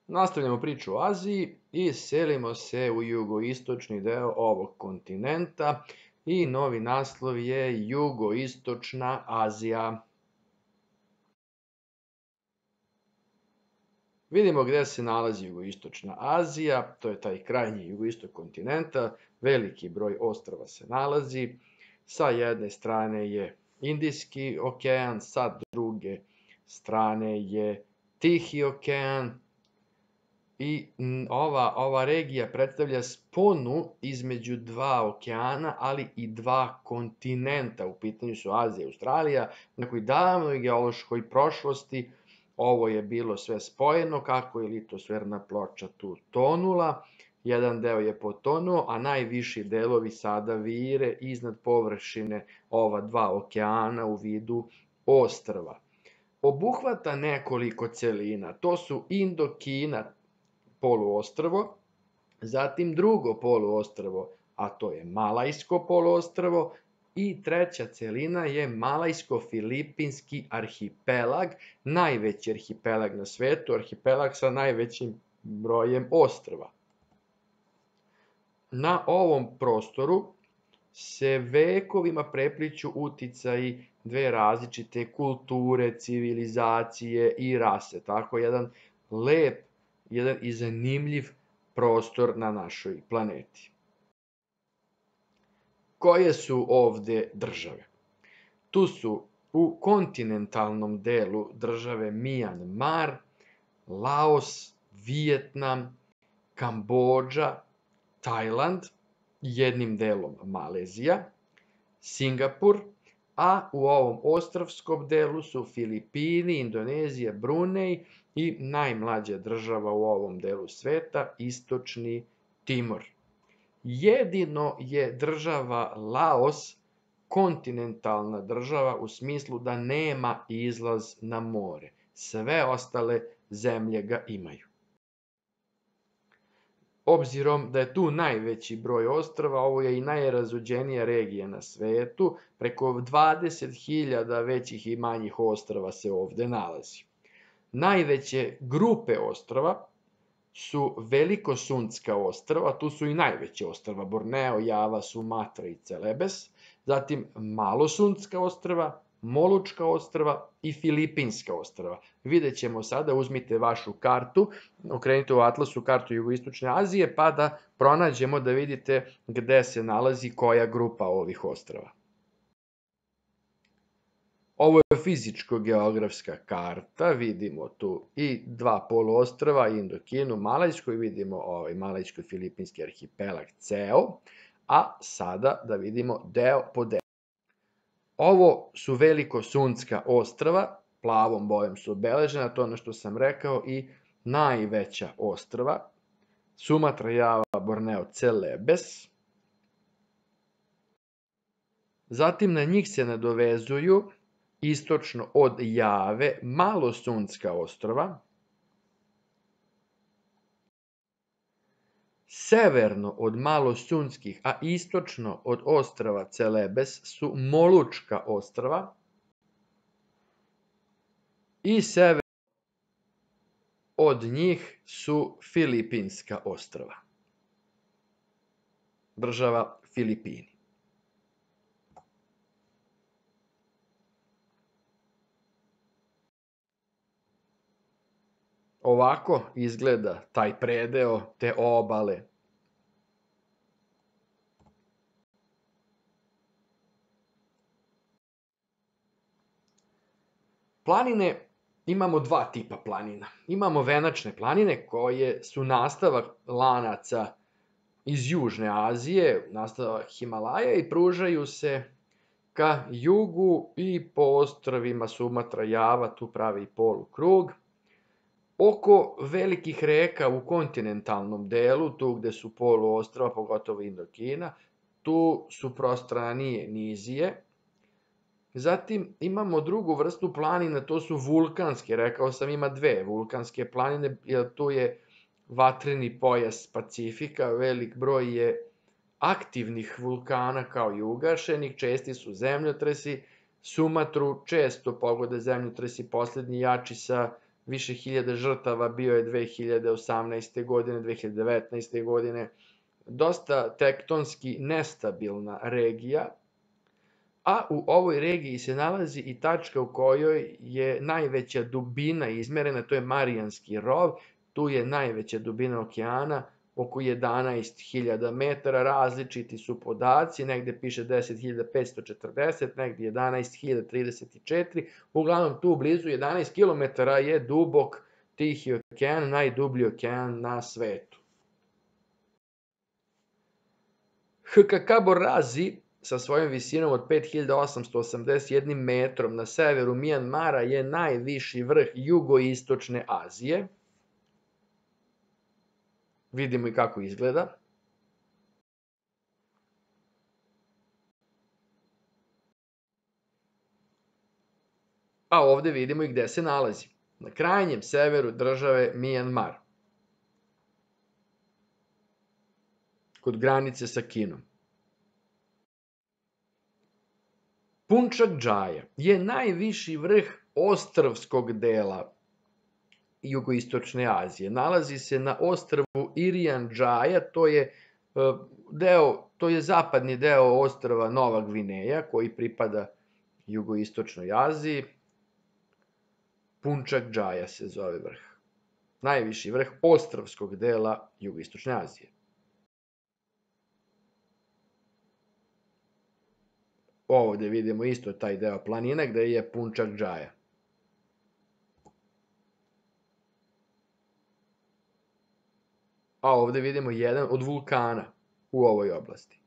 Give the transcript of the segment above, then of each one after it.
Nastavljamo priču o Aziji i selimo se u jugoistočni deo ovog kontinenta i novi naslov je Jugoistočna Azija. Vidimo gde se nalazi Jugoistočna Azija, to je taj krajnji jugoistok kontinenta, veliki broj ostrva se nalazi. Sa jedne strane je Indijski okean, sa druge strane je Tihi okean. I ova regija predstavlja sponu između dva okeana, ali i dva kontinenta. U pitanju su Azija i Australija. U nekoj davnoj geološkoj prošlosti ovo je bilo sve spojeno, kako je litosferna ploča tu tonula. Jedan deo je potonuo, a najviši delovi sada vire iznad površine ova dva okeana u vidu ostrva. Obuhvata nekoliko celina, to su Indokina, poluostrvo, zatim drugo poluostrvo, a to je Malajsko poluostrvo, i treća celina je Malajsko-Filipinski arhipelag, najveći arhipelag na svetu, arhipelag sa najvećim brojem ostrva. Na ovom prostoru se vekovima prepliću uticaji dve različite kulture, civilizacije i rase. Tako jedan lep, jedan i zanimljiv prostor na našoj planeti. Koje su ovde države? Tu su u kontinentalnom delu države Mijanmar, Laos, Vijetnam, Kambodža, Tajland, jednim delom Malezija, Singapur, a u ovom ostrvskom delu su Filipini, Indonezija, Brunej i najmlađa država u ovom delu sveta, Istočni Timor. Jedino je država Laos kontinentalna država u smislu da nema izlaz na more. Sve ostale zemlje ga imaju. Obzirom da je tu najveći broj ostrva, ovo je i najrazuđenija regija na svetu, preko 20.000 većih i manjih ostrva se ovde nalazi. Najveće grupe ostrva su Velikosunska ostrva, tu su i najveće ostrva, Borneo, Java, Sumatra i Celebes, zatim Malosunska ostrva, Molučka ostrva i Filipinska ostrva. Vidjet ćemo sada, uzmite vašu kartu, okrenite u atlasu kartu Jugoistočne Azije, pa da pronađemo da vidite gde se nalazi koja grupa ovih ostrva. Ovo je fizičko-geografska karta, vidimo tu i dva poluostrva, Indokinu, Malajsku, i vidimo Malajsko-Filipinski arhipelag ceo, a sada da vidimo deo po deo. Ovo su Velikosunska ostrva, plavom bojom su obeležena, to je ono što sam rekao, i najveća ostrva, Sumatra, Java, Borneo, Celebes. Zatim na njih se nadovezuju istočno od Jave Malosunska ostrva, severno od Malosunskih, a istočno od ostrva Celebes su Molučka ostrva i severno od njih su Filipinska ostrva, država Filipini. Ovako izgleda taj predeo, te obale. Planine, imamo dva tipa planina. Imamo venačne planine koje su nastavak lanaca iz Južne Azije, nastavak Himalaja, i pružaju se ka jugu i po ostrvima Sumatra, Java, tu pravi polukrug. Oko velikih reka u kontinentalnom delu, tu gde su poluostrva, pogotovo Indokina, tu su prostranije nizije. Zatim imamo drugu vrstu planina, to su vulkanske, rekao sam ima dve vulkanske planine, jer tu je vatreni pojas Pacifika, velik broj je aktivnih vulkana kao i ugašenih, česti su zemljotresi, Sumatru često pogode zemljotresi, poslednji jači sa više hiljada žrtava bio je 2018. godine, 2019. godine. Dosta tektonski nestabilna regija, a u ovoj regiji se nalazi i tačka u kojoj je najveća dubina izmerena, to je Marijanski rov, tu je najveća dubina okeana, oko 11.000 metara, različiti su podaci, negde piše 10.540, negde 11.034, uglavnom tu blizu 11 km je dubok Tihi okean, najdublji okean na svetu. HKK Borazi sa svojom visinom od 5.881 metrom na severu Mijanmara je najviši vrh jugoistočne Azije. Vidimo i kako izgleda. A ovde vidimo i gde se nalazi. Na krajnjem severu države Mijanmar. Kod granice sa Kinom. Punčak Džaja je najviši vrh ostrvskog dela jugoistočne Azije. Nalazi se na ostrvu Irian Džaja, to je zapadni deo ostrva Nova Gvineja, koji pripada jugoistočnoj Aziji. Punčak Džaja se zove vrh. Najviši vrh ostrvskog dela jugoistočne Azije. Ovde vidimo isto taj deo planine gde je Punčak Džaja. A ovde vidimo jedan od vulkana u ovoj oblasti.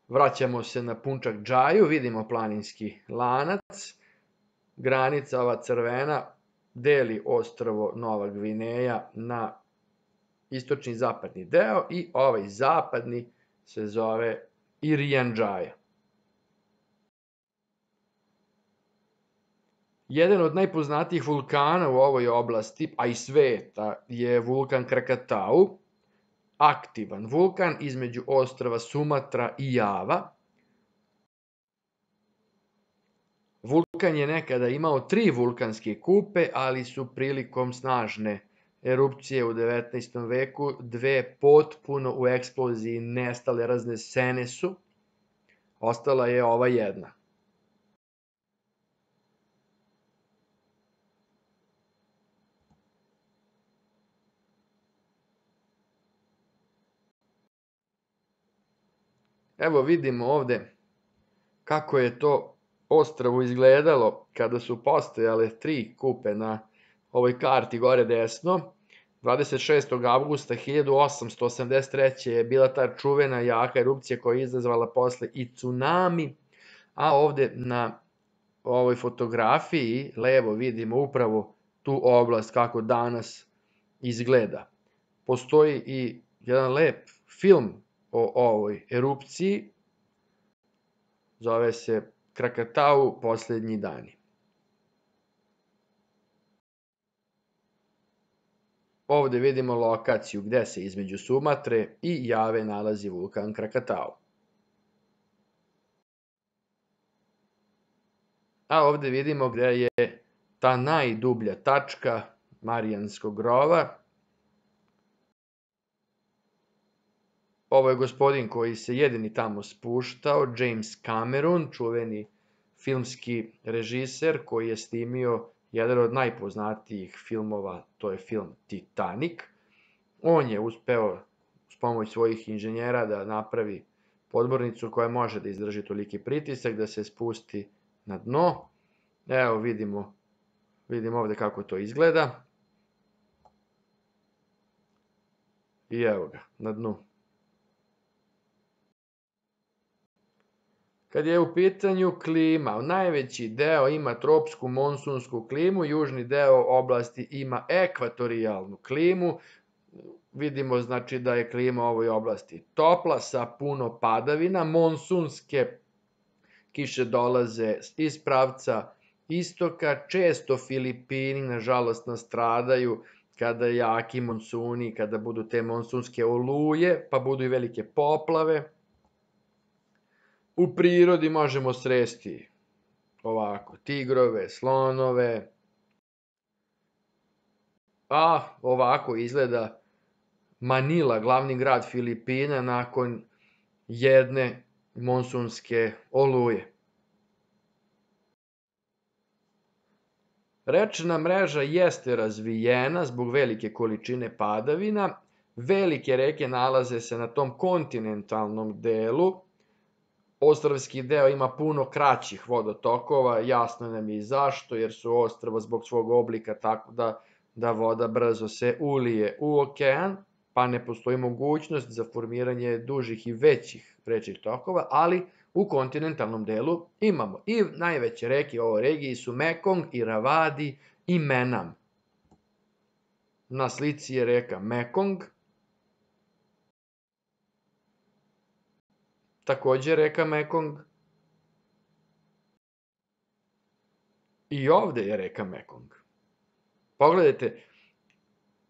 Vraćamo se na Punčak Džaju, vidimo planinski lanac. Granica ova crvena deli ostrvo Nova Gvineja na istočni i zapadni deo i ovaj zapadni se zove Irian Džaja. Jedan od najpoznatijih vulkana u ovoj oblasti, a i sveta, je vulkan Krakatau, aktivan vulkan između ostrva Sumatra i Java. Vulkan je nekada imao 3 vulkanske kupe, ali su prilikom snažne erupcije u 19. veku 2 potpuno u eksploziji nestale, raznesene su. Ostala je ova jedna. Evo vidimo ovde kako je to ostrvo izgledalo kada su postojale 3 kupe na ovoj karti gore desno. 26. avgusta 1883. je bila ta čuvena jaka erupcija koja je izazvala posle i tsunami, a ovde na ovoj fotografiji levo vidimo upravo tu oblast kako danas izgleda. Postoji i jedan lep film o ovoj erupciji, zove se Krakatau poslednji dani. Ovde vidimo lokaciju gde se između Sumatre i Jave nalazi vulkan Krakatau. A ovde vidimo gde je ta najdublja tačka Marijanskog rova. Ovo je gospodin koji se jedini tamo spuštao, James Cameron, čuveni filmski režiser koji je snimio jedan od najpoznatijih filmova, to je film Titanic. On je uspeo s pomoć svojih inženjera da napravi podmornicu koja može da izdrži toliki pritisak, da se spusti na dno. Evo vidimo ovde kako to izgleda. I evo ga, na dnu. Kad je u pitanju klima, najveći deo ima tropsku monsunsku klimu, južni deo oblasti ima ekvatorijalnu klimu. Vidimo znači da je klima u ovoj oblasti topla sa puno padavina, monsunske kiše dolaze iz pravca istoka, često Filipini nažalost nastradaju kada je jaki monsuni, kada budu te monsunske oluje, pa budu i velike poplave. U prirodi možemo sresti ovako, tigrove, slonove, a ovako izgleda Manila, glavni grad Filipina, nakon jedne monsunske oluje. Rečna mreža jeste razvijena zbog velike količine padavina. Velike reke nalaze se na tom kontinentalnom delu. Ostrvski deo ima puno kraćih vodotokova, jasno nam je i zašto, jer su ostrva zbog svog oblika tako da voda brzo se ulije u okean, pa ne postoji mogućnost za formiranje dužih i većih rečnih tokova, ali u kontinentalnom delu imamo. I najveće reke u ovoj regiji su Mekong, Iravadi i Menam. Na slici je reka Mekong, takođe reka Mekong, i ovde je reka Mekong. Pogledajte,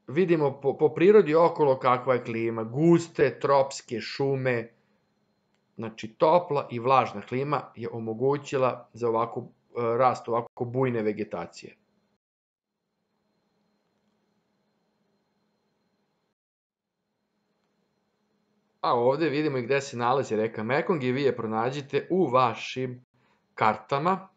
vidimo po prirodi okolo kakva je klima, guste tropske šume, znači topla i vlažna klima je omogućila za ovako rast ovako bujne vegetacije. A ovde vidimo i gde se nalazi reka Mekong i vi je pronađite u vašim kartama.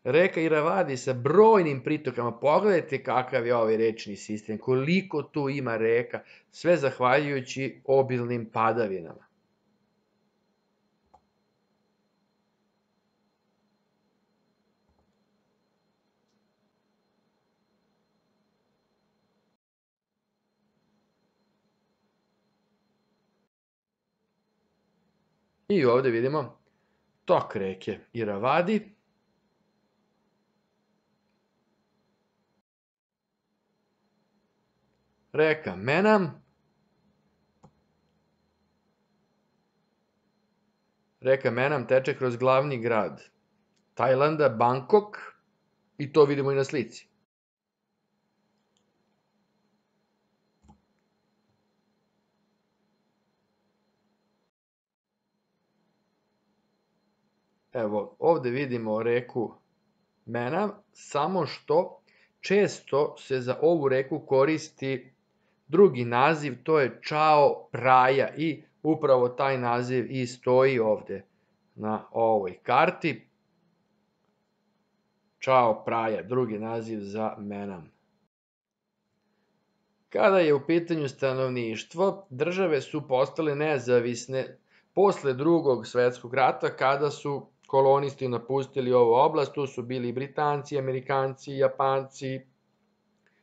Reka Iravadi sa brojnim pritokama, pogledajte kakav je ovaj rečni sistem, koliko tu ima reka, sve zahvaljujući obilnim padavinama. I ovde vidimo tok reke Iravadi. Reka Menam. Reka Menam teče kroz glavni grad Tajlanda, Bangkok, i to vidimo i na slici. Evo, ovde vidimo reku Menam, samo što često se za ovu reku koristi drugi naziv, to je Chao Phraya, i upravo taj naziv i stoji ovde na ovoj karti. Chao Phraya, drugi naziv za Menam. Kada je u pitanju stanovništvo, države su postale nezavisne posle Drugog svetskog rata, kada su kolonisti napustili ovu oblast. Tu su bili Britanci, Amerikanci, Japanci,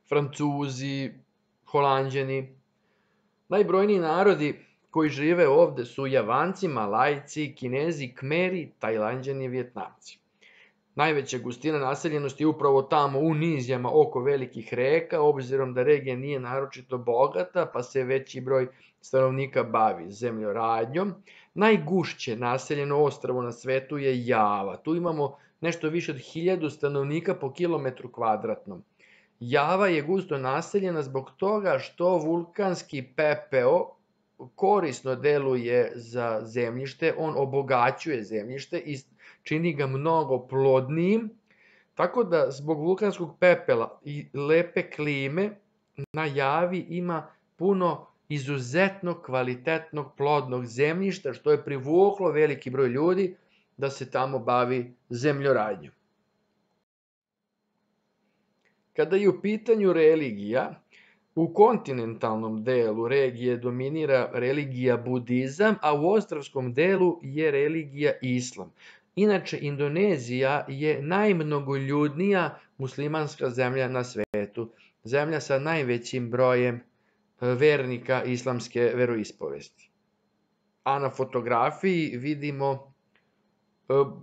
Francuzi, Holanđani. Najbrojniji narodi koji žive ovde su Javanci, Malajci, Kinezi, Kmeri, Tajlanđani i Vjetnamci. Najveća gustina naseljenosti je upravo tamo u nizijama oko velikih reka, obzirom da regija nije naročito bogata, pa se veći broj stanovnika bavi zemljoradnjom. Najgušće naseljeno ostrvo na svetu je Java. Tu imamo nešto više od 1000 stanovnika po kilometru kvadratnom. Java je gusto naseljena zbog toga što vulkanski pepeo korisno deluje za zemljište, on obogaćuje zemljište i čini ga mnogo plodnijim, tako da zbog vulkanskog pepela i lepe klime na Javi ima puno izuzetno kvalitetnog plodnog zemljišta, što je privuklo veliki broj ljudi da se tamo bavi zemljoradnjom. Kada je u pitanju religija, u kontinentalnom delu regije dominira religija budizam, a u ostrvskom delu je religija islam. Inače, Indonezija je najmnogoljudnija muslimanska zemlja na svetu, zemlja sa najvećim brojem vernika islamske veroispovesti. A na fotografiji vidimo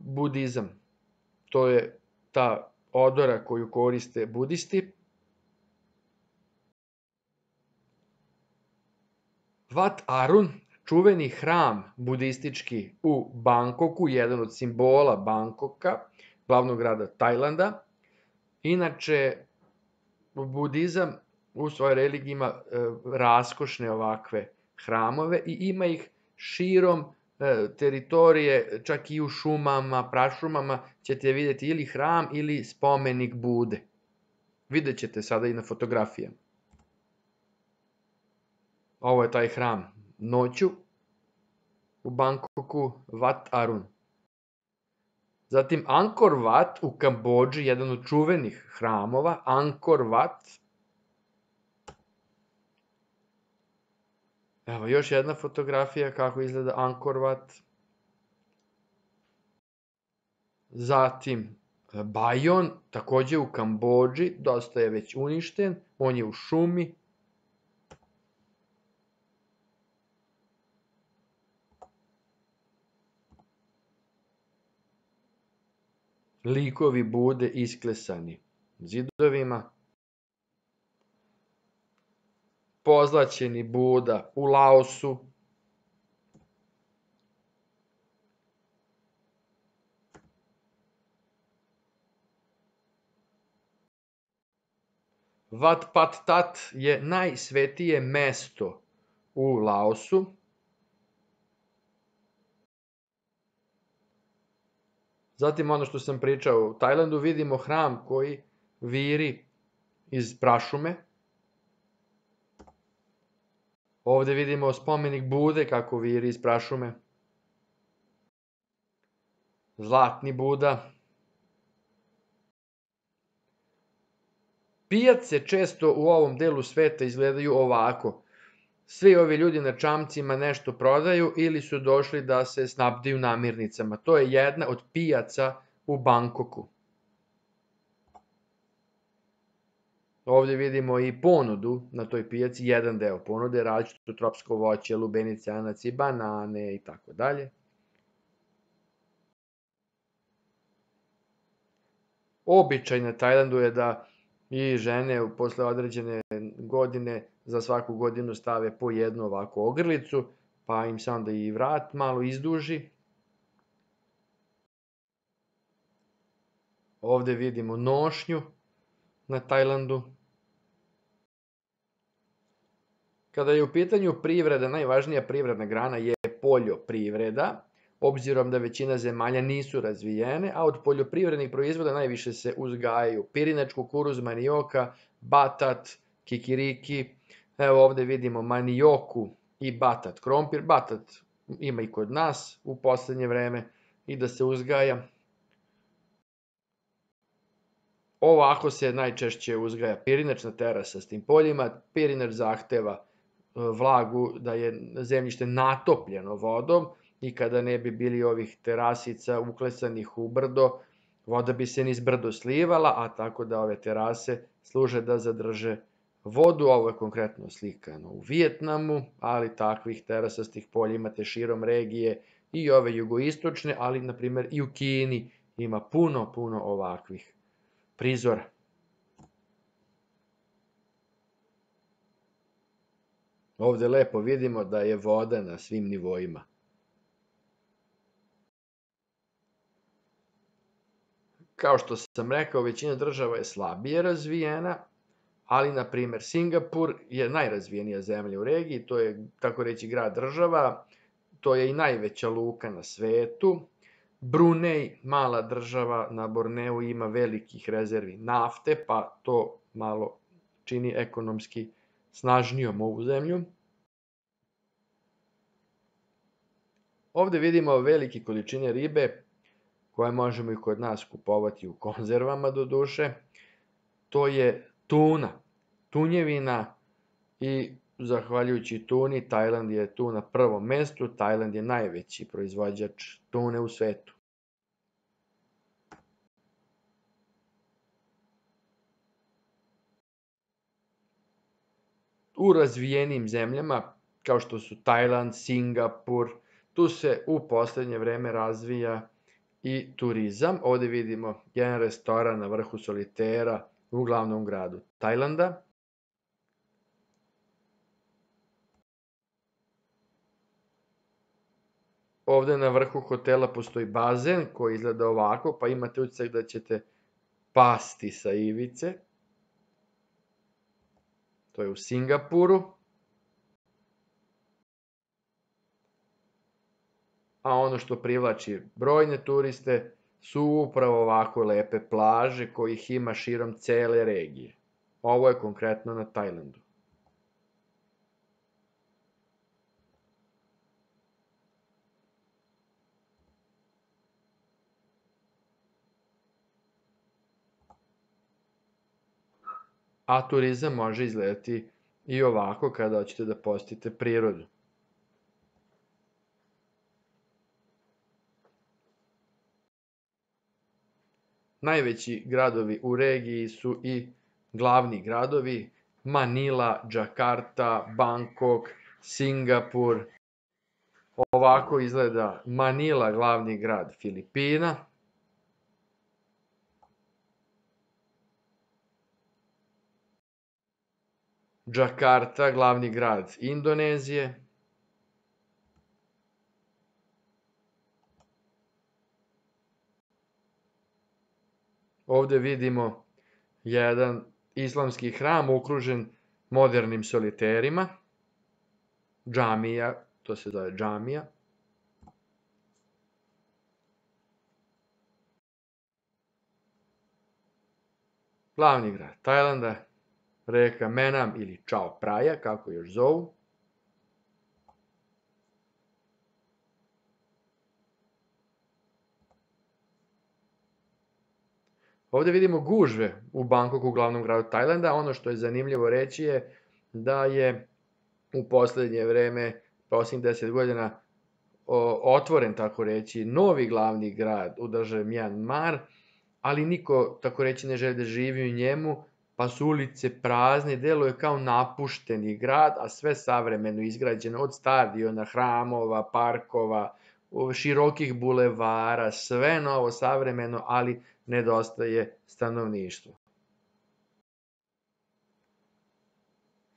budizam. To je ta odora koju koriste budisti. Wat Arun, čuveni hram budistički u Bangkoku, jedan od simbola Bangkoka, glavnog grada Tajlanda. Inače, budizam u svojoj religiji ima raskošne ovakve hramove i ima ih širom teritorije, čak i u šumama, prašumama ćete vidjeti ili hram ili spomenik Bude. Vidjet ćete sada i na fotografijama. Ovo je taj hram noću u Bangkoku, Wat Arun. Zatim Angkor Wat u Kambodži, jedan od čuvenih hramova, Angkor Wat. Evo još jedna fotografija kako izgleda Angkor Wat. Zatim Bajon, takođe u Kambodži, dosta je već uništen, on je u šumi. Likovi Bude isklesani zidovima. Pozlaćeni Buda u Laosu. Wat Pat Tat je najsvetije mesto u Laosu. Zatim ono što sam pričao, u Tajlandu vidimo hram koji viri iz prašume. Ovde vidimo spomenik Bude kako viri iz prašume. Zlatni Buda. Pijace često u ovom delu sveta izgledaju ovako. Svi ovi ljudi na čamcima nešto prodaju ili su došli da se snabdiju namirnicama. To je jedna od pijaca u Bangkoku. Ovde vidimo i ponudu na toj pijaci, jedan deo ponude, različito tropsko voće, lubenice, anaci, banane i tako dalje. Običaj na Tajlandu je da i žene posle određene godine za svaku godinu stave po jednu ovakvu ogrlicu, pa im se onda i vrat malo izduži. Ovde vidimo nošnju na Tajlandu. Kada je u pitanju privreda, najvažnija privredna grana je poljoprivreda, obzirom da većina zemalja nisu razvijene, a od poljoprivrednih proizvoda najviše se uzgajaju pirinač, kukuruz, manioka, batat, kikiriki. Evo ovde vidimo manioku i batat krompir. Batat ima i kod nas u poslednje vreme i da se uzgaja. Ovako se najčešće uzgaja pirinač na terasastim poljima. Pirinač zahteva vlagu, da je zemljište natopljeno vodom i kada ne bi bili ovih terasica uklesanih u brdo, voda bi se niz brdo slivala, a tako da ove terase služe da zadrže vodu. Ovo je konkretno slikano u Vijetnamu, ali takvih terasastih polja imate širom regije i ove jugoistočne, ali na primer i u Kini ima puno ovakvih prizora. Ovde lepo vidimo da je voda na svim nivoima. Kao što sam rekao, većina država je slabije razvijena, ali na primer Singapur je najrazvijenija zemlja u regiji, to je tako reći grad država, to je i najveća luka na svetu. Brunei, mala država na Borneu, ima velikih rezervi nafte, pa to malo čini ekonomski snažnijom ovu zemlju. Ovde vidimo velike količine ribe koje možemo i kod nas kupovati u konzervama do duše. To je tuna, tunjevina i zahvaljujući tuni Tajland je tu na prvom mestu. Tajland je najveći proizvođač tune u svetu. U razvijenim zemljama, kao što su Tajland, Singapur, tu se u poslednje vreme razvija i turizam. Ovde vidimo jedan restoran na vrhu solitera u glavnom gradu Tajlanda. Ovde na vrhu hotela postoji bazen koji izgleda ovako, pa imate utisak da ćete pasti sa ivice. To je u Singapuru. a ono što privlači brojne turiste su upravo ovako lepe plaže kojih ima širom cele regije. Ovo je konkretno na Tajlandu. A turizam može izgledati i ovako kada hoćete da posetite prirodu. Najveći gradovi u regiji su i glavni gradovi: Manila, Džakarta, Bangkok, Singapur. Ovako izgleda Manila, glavni grad Filipina. Džakarta, glavni grad Indonezije. Ovde vidimo jedan islamski hram okružen modernim soliterima. Džamija, to se zove džamija. Glavni grad Tajlanda, reka Menam ili Chao Praja, kako još zovu. Ovde vidimo gužve u Bangkoku, glavnom gradu Tajlanda. Ono što je zanimljivo reći je da je u poslednje vreme, poslednjih 10 godina, otvoren, tako reći, novi glavni grad u državi Mjanmar, ali niko, tako reći, ne želi da živi u njemu, pa su ulice prazne, deluje kao napušteni grad, a sve savremeno izgrađeno, od stadiona, hramova, parkova, širokih bulevara, sve novo, savremeno, ali nedostaje stanovništvo.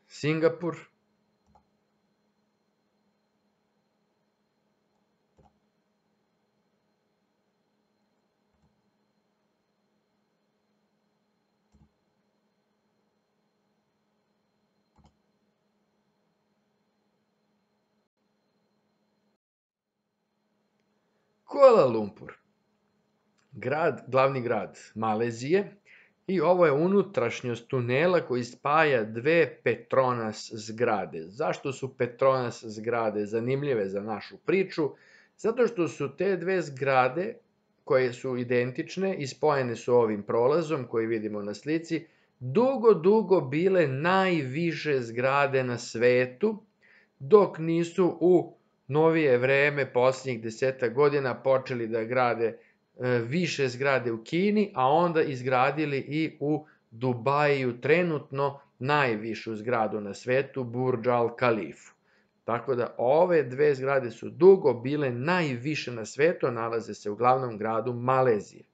Singapur. Kuala Lumpur, glavni grad Malezije, i ovo je unutrašnjost tunela koji spaja dve Petronas zgrade. Zašto su Petronas zgrade zanimljive za našu priču? Zato što su te dve zgrade, koje su identične i spojene su ovim prolazom koji vidimo na slici, dugo bile najviše zgrade na svetu, dok nisu u novije vreme, posljednjih 10 godina, počeli da grade više zgrade u Kini, a onda izgradili i u Dubaju trenutno najvišu zgradu na svetu, Burj Al Khalifu. Tako da ove dve zgrade su dugo bile najviše na svetu, a nalaze se u glavnom gradu Malezije.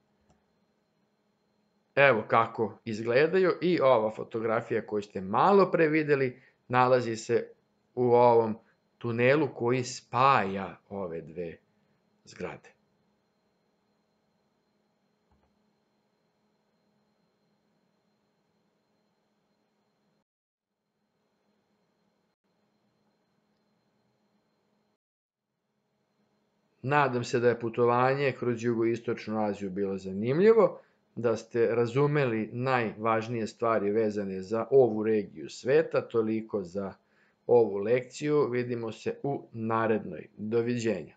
Evo kako izgledaju, i ova fotografija koju ste malo pre videli nalazi se u ovom tunelu koji spaja ove dve zgrade. Nadam se da je putovanje kroz jugoistočnu Aziju bilo zanimljivo, da ste razumeli najvažnije stvari vezane za ovu regiju sveta. Toliko za ovu lekciju. Vidimo se u narednoj. Doviđenja.